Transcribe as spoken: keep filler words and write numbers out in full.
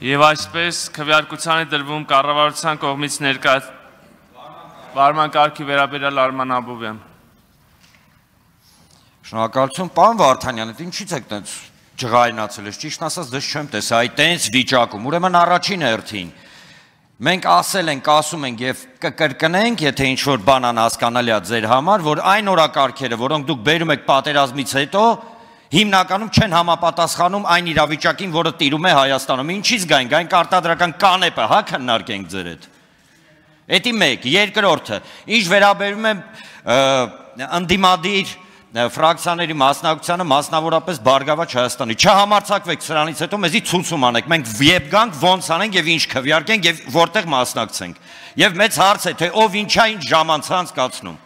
Եվ այսպես քվեարկության է դրվում կառավարության կողմից ներկա վարման կարգի վերաբերյալ Արման Աբովյան։ Շնորհակալություն, պարոն Վարդանյան, ինչի՞ց եք տենց ջղայնացել, ճիշտ ասած դες չեմ տեսա այդ տենց վիճակում, ուրեմն առաջին հերթին մենք ասել ենք, ասում ենք եւ կկրկնենք, եթե ինչ-որ բան անհասկանալի է ձեր համար, որ այն օրակարգերը, որոնք դուք բերում եք պատերազմից հետո, հիմնականում չեն համապատասխանում այն իրավիճակին, որը տիրում է Հայաստանում։ Ինչից գային, գային արտադրական կանեպը, հա քննարկենք ձեր հետ։ Էդի մեկ, երկրորդը, ինչ վերաբերում է ընդդիմադիր ֆրակցիաների մասնակցությանը, մասնավորապես Բարգավաճ Հայաստանի։ Չհամարձակվեք սրանից հետո մեզի ցույցում անեք, մենք երբ գանք ոնց անենք եւ ինչ քվեարկենք եւ որտեղ մասնակցենք։ Եվ մեծ հարց է, թե ով ինչա ինչ ժամանց անցկացնում։